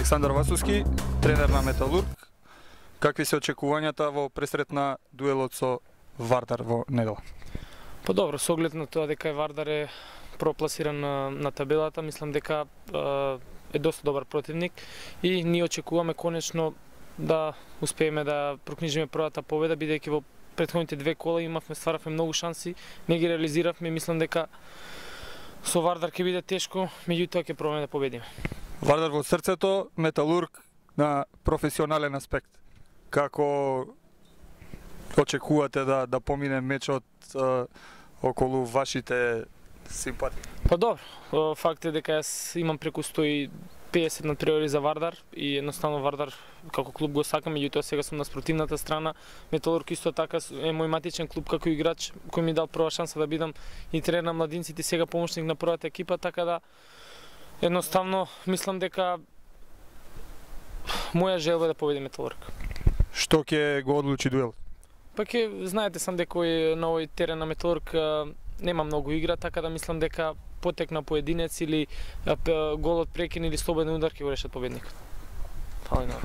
Александар Васовски, тренер на Металург. Какви се очекувањата во пресретна дуелот со Вардар во недела? Па добро, со оглед на тоа дека Вардар е пропласиран на табелата, мислам дека е доста добар противник и ние очекуваме конечно да успееме да прокнижиме првата победа, бидејќи во претходните две кола стваравме многу шанси, не ги реализиравме, мислам дека со Вардар ќе биде тешко, меѓутоа ќе пробаме да победиме. Вардар во срцето, Металург на професионален аспект. Како очекувате да помине мечот околу вашите симпатии? Па добро, факт е дека јас имам преку 150 надпревари за Вардар и едноставно Вардар како клуб го сакам, меѓутоа сега сум на спротивната страна. Металург исто така е мој матичен клуб како играч кој ми дал прва шанса да бидам и тренер на младинците, сега помошник на првата екипа, така да едноставно мислам дека моја желба е да победи Металург. Што ќе го одлучи дуел? Па ќе знаете сам дека на овој терен на Металург нема многу игра, така да мислам дека потек на поединец или голот прекин или слободен удар ќе го решат победникот. Фала на